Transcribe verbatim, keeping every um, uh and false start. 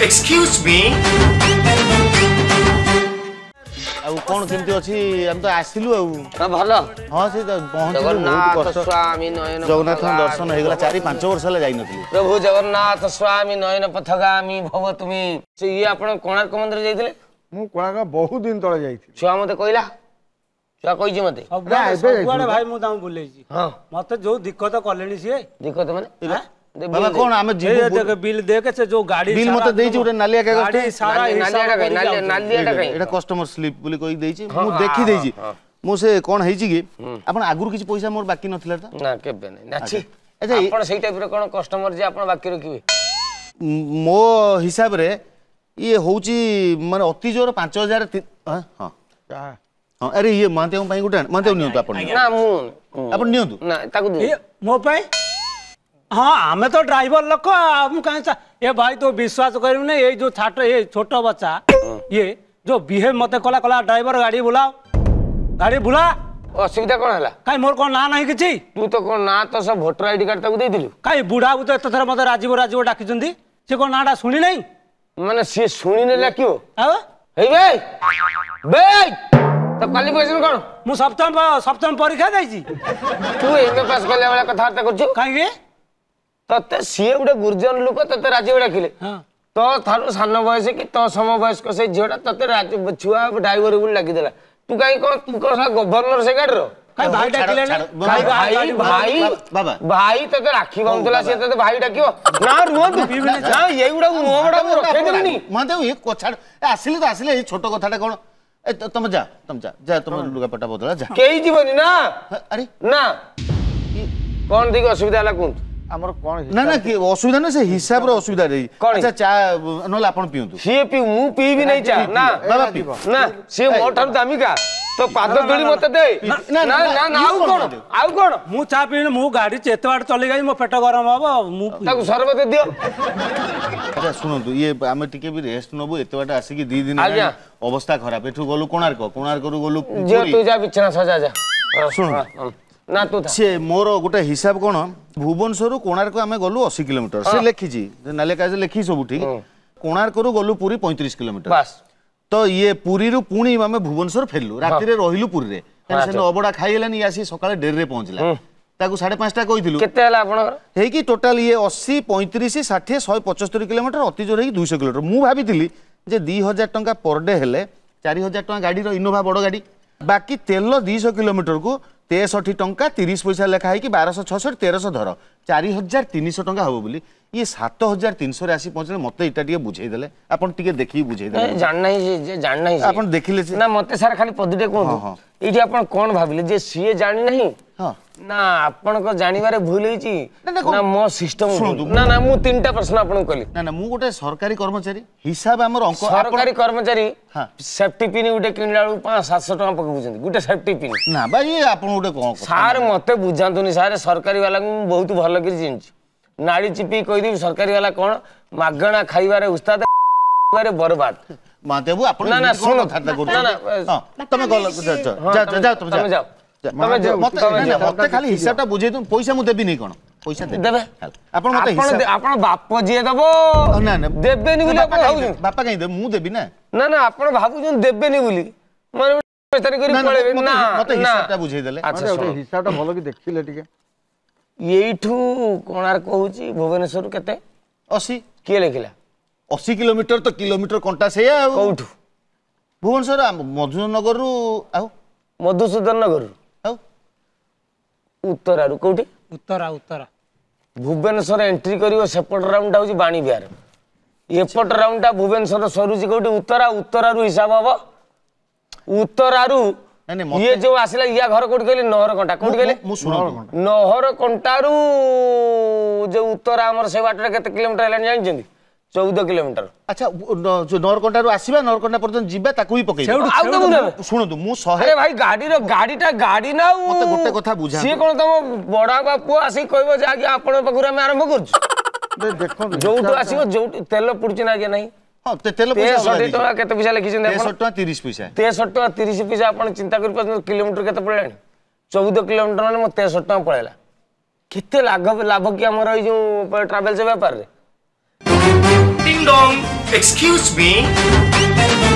Excuse me. ଆଉ କ'ଣ କେମିତି ଅଛି? ଆମେ ତ ଆସିଲୁ ଆଉ। ଭଲ। ହଁ, ସେ ପହଞ୍ଚିଲୁ, ବହୁତ କଷ୍ଟ। ସ୍ୱାମୀ ନୟନ ଜଗନ୍ନାଥଙ୍କ ଦର୍ଶନ ହେଇଗଲା। ଚାରି ପାଞ୍ଚ ବର୍ଷ ହେଲା ଯାଇନଥିଲି। ପ୍ରଭୁ ଜଗନ୍ନାଥ ସ୍ୱାମୀ ନୟନ ପଥଗାମୀ ଭବ ତୁମେ। ସେ ଇଏ ଆପଣ କୋଣାର୍କ ମନ୍ଦିର ଯାଇଥିଲେ? ମୁଁ କୋଣାର୍କ ବହୁତ ଦିନ ତଳେ ଯାଇଥିଲି। ଛୁଆ ମତେ କହିଲା, ଛୁଆ କହିଛି ମତେ। ସବୁଆଡେ ଭାଇ ମୁଁ ତାଙ୍କୁ ବୁଲେଇଛି। ହଁ, ମତେ ଯୋଉ ଦିକ୍କତ କଲେଣି ସିଏ। ଦିକ୍କତ ମାନେ? ବାବା, କଣ ଆମେ ଯିବୁ? ବିଲ୍ ଦେଖେ, ସେ ଯୋଉ ଗାଡି ବିଲ୍ ମତେ ଦେଇଛି ଗୋଟେ ନାଲିଆ କାଗଜ। ଗାଡି ସାରା ନାଲିଆଟା କାଇଁ? ଏଇଟା କଷ୍ଟମର ସ୍ଲିପ୍ ବୋଲି କହି ଦେଇଛି, ମୁଁ ଦେଖି ଦେଇଛି ମୁଁ। ସେ କଣ ହେଇଛି କି, ଆପଣ ଆଗରୁ କିଛି ପଇସା ମୋର ବାକି ନଥିଲା ତ? ନା, କେବେ ନାହିଁ। ନାଛି, ଆଚ୍ଛା ଆପଣ ସେଇ ଟାଇପର କଣ କଷ୍ଟମର ଯେ ଆପଣ ବାକି ରଖିବେ? ମୋ ହିସାବରେ ଇଏ ହଉଛି ମାନେ ଅତି ଜୋର ପାଞ୍ଚ ହଜାର। ହଁ ହଁ, ଆରେ ଇଏ ମହାନ୍ତିଙ୍କ ପାଇଁ ଗୋଟେ। ମହାନ୍ତି ନିଅନ୍ତୁ ଆପଣ। ନା, ମୁଁ ଆପଣ ନିଅନ୍ତୁ। ନା, ତାକୁ ମୋ ପାଇଁ। ହଁ, ଆମେ ତ ଡ୍ରାଇଭର ଲୋକ, ମୁଁ କାହିଁ ଏ ଭାଇ ତୁ ବିଶ୍ୱାସ କରିବୁନି, ଏଇ ଯୋଉ ଛାଟ ଏ ଛୋଟ ବଚ୍ଚା ଇଏ ଯୋଉ ବିହେଭ ମତେ କଲା, କଲା ଡ୍ରାଇଭର ଗାଡି ବୁଲାଅ, ଗାଡି ବୁଲା। ଅସୁବିଧା କଣ ହେଲା? କାଇଁ, ମୋର କଣ ନାଁ ନାହିଁ କିଛି? ତୁ ତ କଣ ନାଁ ତ ସବୁ ଭୋଟର ଆଇଡି କାର୍ଡ ତାକୁ ଦେଇଥିଲୁ। କାଇଁ, ବୁଢା ତ ଏତେ ଥର ମତେ ରାଜୀବ ରାଜୀବ ଡାକିଛନ୍ତି, ସେ କଣ ନାଁଟା ଶୁଣି ନାହିଁ? ମାନେ ସିଏ ଶୁଣିନେ ଡାକିବ? ଆଉ ହେଇ ବେ ବେ, ତ କ୍ୱାଲିଫିକେସନ କଣ? ମୁଁ ସପ୍ତମ ସପ୍ତମ ପରୀକ୍ଷା ଦେଇଛି। ତୁ ଏମଏ ପାସ୍ କଲା ଭଳିଆ କଥାବାର୍ତ୍ତା କରୁଛୁ କାହିଁକି? ତତେ ସିଏ ଗୋଟେ ଗୁରୁଜନ ଲୋକ, ତତେ ରାଜୀବ ଡାକିଲେ। ତୋ ଠାରୁ ସାନ ବୟସ କି ତୋ ସମ ବୟସ୍କ ସେଇ ଝିଅଟା ତତେ ଛୁଆ ଡ୍ରାଇଭର ବୋଲି ଡାକିଦେଲା, ତୁ କାହିଁ କଣ ତୁ କଣ ଗଭର୍ଣ୍ଣର ସେ ଗାଡିର? ଭାଇ ଡାକିଲେଣି। ଭାଇ ଭାଇ ଭାଇ, ତତେ ରାକ୍ଷୀ ବାନ୍ଧୁଥିଲା ସିଏ ତତେ ଭାଇ ଡାକିବ? ନା ରୁହନ୍ତୁ ନା, ଏଇଗୁଡାକୁ ମୁହଁ ଗୁଡା ମୁଁ ରଖେଇଦେବିନି। ମହାଦେବ, ଇଏ ଛାଡ, ଆସିଲେ ତ ଆସିଲେ, ଏଇ ଛୋଟ କଥାଟା କଣ? ଏ ତମେ ଯା, ତମେ ଯା, ଯା ତମ ଲୁଗାପଟା ବଦଳା, ଯା। କେହି ଯିବନି ନା। ଆରେ ନା, କଣ ଦେଇକି ଅସୁବିଧା ହେଲା କୁହନ୍ତୁ ଆମର କଣ? ନା ନା, ଅସୁବିଧା ନା, ସେ ହିସାବର ଅସୁବିଧା ଦେଇ। ଆଚ୍ଛା, ଚା ନହେଲେ ଆପଣ ପିଅନ୍ତୁ। ସିଏ ପିଉ, ମୁଁ ପିଇବି ନାହିଁ ଚା। ନା ବାବା, ନା, ସିଏ ମୋ ଠାରୁ ଦାମିକା, ତ ପାଦ ଧୂଳି ମତେ ଦେ। ନା ନା ନା, ଆଉ କଣ, ଆଉ କଣ? ମୁଁ ଚା ପିଇନି, ମୁଁ ଗାଡି ଏତେ ବାଟ ଚଲେଇ ଗାଇ ମୋ ପେଟ ଗରମ ହବ, ମୁଁ ତାକୁ ସରବତ ଦିଅ। ଆଚ୍ଛା ଶୁଣନ୍ତୁ, ଇଏ ଆମେ ଟିକେ ବି ରେଷ୍ଟ ନବୁ, ଏତେ ବାଟ ଆସିକି ଦି ଦିନ ଅବସ୍ଥା ଖରାପ। ଏଠୁ ଗଲୁ କୋଣାର୍କ, କୋଣାର୍କରୁ ଗଲୁ। ତୁ ଯା ବିଛଣା ସଜା ଯା। ଶୁଣନ୍ତୁ ନା, ତୁ ସେ ମୋର ଗୋଟେ ହିସାବ କଣ, ଭୁବନେଶ୍ୱରରୁ କୋଣାର୍କ ଆମେ ଗଲୁ ଅଶୀ କିଲୋମିଟର, ସେ ଲେଖିଛି ନାଲିଆ କାଗଜ ଲେଖିଛି ସବୁ ଠିକ। କୋଣାର୍କରୁ ଗଲୁ ପୁରୀ ପଇଁତିରିଶ କିଲୋମିଟର ତ। ଇଏ ପୁରୀରୁ ପୁଣି ଆମେ ଭୁବନେଶ୍ୱର ଫେରିଲୁ, ରାତିରେ ରହିଲୁ ପୁରୀରେ, ସେଦିନ ଅବଡ଼ା ଖାଇହେଲାନି। ଇଏ ଆସି ସକାଳେ ଡେରିରେ ପହଞ୍ଚିଲା, ତାକୁ ସାଢେ ପାଞ୍ଚଟା କହିଥିଲୁ। କେତେ ହେଲା ଆପଣଙ୍କର ହେଇକି ଟୋଟାଲ? ଇଏ ଅଶୀ, ପଇଁତିରିଶ, ଷାଠିଏ, ଶହେ ପଚସ୍ତରୀ କିଲୋମିଟର, ଅତି ଜୋର ହେଇକି ଦୁଇଶହ କିଲୋମିଟର। ମୁଁ ଭାବିଥିଲି ଯେ ଦୁଇ ହଜାର ଟଙ୍କା ପର ଡେ ହେଲେ ଚାରି ହଜାର ଟଙ୍କା ଗାଡ଼ିର, ଇନୋଭା ବଡ଼ ଗାଡ଼ି, ବାକି ତେଲ ଦୁଇଶହ କିଲୋମିଟରକୁ ତେଷଠି ଟଙ୍କା ତିରିଶ ପଇସା ଲେଖା ହେଇକି ବାରଶହ ଛଅଷଠି, ତେରଶହ ଧର, ଚାରି ହଜାର ତିନିଶହ ଟଙ୍କା ହବ ବୋଲି। ଇଏ ସାତ ହଜାର ତିନିଶହରେ ଆସି ପହଞ୍ଚିଲେ। ମତେ ଏଇଟା ଟିକେ ବୁଝେଇଦେଲେ, ଆପଣ ଟିକେ ଦେଖିକି ବୁଝେଇଦେଲେ। ଜାଣିନାହିଁ, ଜାଣିନାହିଁ ଆପଣ ଦେଖିଲେ ନା ମତେ ସାର୍ ଖାଲି ପଦୁଟେ କୁହନ୍ତୁ, ଏଇଠି ଆପଣ କଣ ଭାବିଲେ ଯେ ସିଏ ଜାଣିନାହିଁ ନା ଆପଣଙ୍କ ଜାଣିବାରେ ଭୁଲ ହେଇଛି ନା ମୋ ସିଷ୍ଟମ? ନା ନା, ମୁଁ ତିନିଟା ପ୍ରଶ୍ନ ଆପଣଙ୍କୁ କଲି। ନା ନା, ମୁଁ ଗୋଟେ ସରକାରୀ କର୍ମଚାରୀ, ହିସାବ ଆମର ଅଙ୍କ। ସରକାରୀ କର୍ମଚାରୀ ସେଫ୍ଟି ପିନ୍ ଗୋଟେ କିଣିଲା ବେଳକୁ ପାଞ୍ଚ ସାତଶହ ଟଙ୍କା ପକଉଛନ୍ତି ଗୋଟେ ସେଫ୍ଟି ପିନ୍। ନା ଭାଇ, ଆପଣ ଗୋଟେ କଣ ସାର୍ ମତେ ବୁଝାନ୍ତୁନି ସାର୍, ସରକାରୀ ବାଲାଙ୍କୁ ମୁଁ ବହୁତ ଭଲ କରି ଚିହ୍ନିଛି। ନାଡ଼ି ଚିପି କହିଦେବି ସରକାରୀ ବାଲା କଣ, ମାଗଣା ଖାଇବାରେ ଉସ୍ତାଦ, ବରବାଦ। ମହାଦେବୁ, ଆପଣ ନା ନା, ଶୁଣ, ନା ନା, ତମେ ଗଲ, ଯାଅ ତମେ ଯାଅ। ମତେ ଖାଲି ହିସାବଟା ବୁଝେଇ ଦିଅନ୍ତୁ। ପଇସା ମୁଁ ଦେବିନି କଣ? ପଇସା ଦେବେ ଆପଣ ମତେ? ଆପଣ ବାପ ଯିଏ ଦବ ନା ନା, ଦେବେନି ବୋଲି ଆପଣ ଭାବୁଛନ୍ତି? ବାପା କାହିଁ ଦେବେ, ମୁଁ ଦେବି ନା। ନା ନା, ଆପଣ ଭାବୁଛନ୍ତି ଦେବେନି ବୋଲି, ମାନେ ପଳେଇବେ ନା? ମତେ ହିସାବଟା ବୁଝେଇ ଦେଲେ। ଆଚ୍ଛା, ହିସାବଟା ଭଲ କି ଦେଖିଲେ ଟିକେ। ଏଇଠୁ କୋଣାର୍କ ହଉଛି ଭୁବନେଶ୍ୱରରୁ କେତେ? ଅଶୀ। କିଏ ଲେଖିଲା? ଅଶୀ କିଲୋମିଟର ତ କିଲୋମିଟର କଣ୍ଟା ସେଇଆ। ଆଉ କୋଉଠୁ? ଭୁବନେଶ୍ୱର ମଧୁସୂଦନ ନଗରରୁ। ଆଉ ମଧୁସୂଦନ ନଗରରୁ ଆଉ ଉତ୍ତରାରୁ କୋଉଠି? ଉତ୍ତରା, ଉତ୍ତରା। ଭୁବନେଶ୍ୱର ଏଣ୍ଟ୍ରି କରିବ, ସେପଟ ରାଉଣ୍ଡଟା ହଉଛି ବାଣୀ ବିହାର, ଏପଟ ରାଉଣ୍ଡଟା ଭୁବନେଶ୍ୱର ସରୁଛି କୋଉଠି? ଉତ୍ତରା। ଉତ୍ତରାରୁ ହିସାବ ହବ, ଉତ୍ତରାରୁ ଇଏ ଯୋଉ ଆସିଲା, ଇୟା ଘର କୋଉଠି କହିଲେ? ନହରକଣ୍ଟା। କୋଉଠି କହିଲେ? ନହରକଣ୍ଟାରୁ ଯୋଉ ଉତ୍ତରା ଆମର ସେ ବାଟରେ କେତେ କିଲୋମିଟର ହେଲାଣି ଜାଣିଛନ୍ତି? ଚଉଦ କିଲୋମିଟର। ଆଚ୍ଛା, ନହରକଣ୍ଟାରୁ ଆସିବା ନହରକଣ୍ଟା ପର୍ଯ୍ୟନ୍ତ ଯିବା ତାକୁ ବି ପକେଇ। ଆଉ ଶୁଣନ୍ତୁ, ମୁଁ ଶହେ ଭାଇ ଗାଡିର ଗାଡିଟା ଗାଡି ନା ଆଉ ମତେ ଗୋଟେ କଥା ବୁଝା, ସିଏ କଣ ତମ ବଡ ବାପା ପୁଅ ଆସିକି କହିବ ଯେ ଆଜ୍ଞା ଆପଣଙ୍କ ପାଖରୁ ଆମେ ଆରମ୍ଭ କରୁଛୁ? ଦେଖନ୍ତୁ, ଯୋଉଠୁ ଆସିବ, ଯୋଉଠି ତେଲ ପଡୁଛି ନା ଆଜ୍ଞା ନାହିଁ? ହଁ, ତେଲ ତେଷଠି ଟଙ୍କା କେତେ ପଇସା ଲେଖିଛନ୍ତି? ତେଷଠି ଟଙ୍କା ତିରିଶ ପଇସା। ତେଷଠି ଟଙ୍କା ତିରିଶ ପଇସା। ଆପଣ ଚିନ୍ତା କରିପାରୁଛନ୍ତି କିଲୋମିଟର କେତେ ପଳେଇଲାଣି? ଚଉଦ କିଲୋମିଟର ମାନେ ମୋ ତେଷଠି ଟଙ୍କା ପଳେଇଲା। କେତେ ଲାଭ ଲାଭ କି ଆମର ଏଇ ଯୋଉ ଟ୍ରାଭେଲ୍ସ ବେପାରରେ? Ding dong. Excuse me.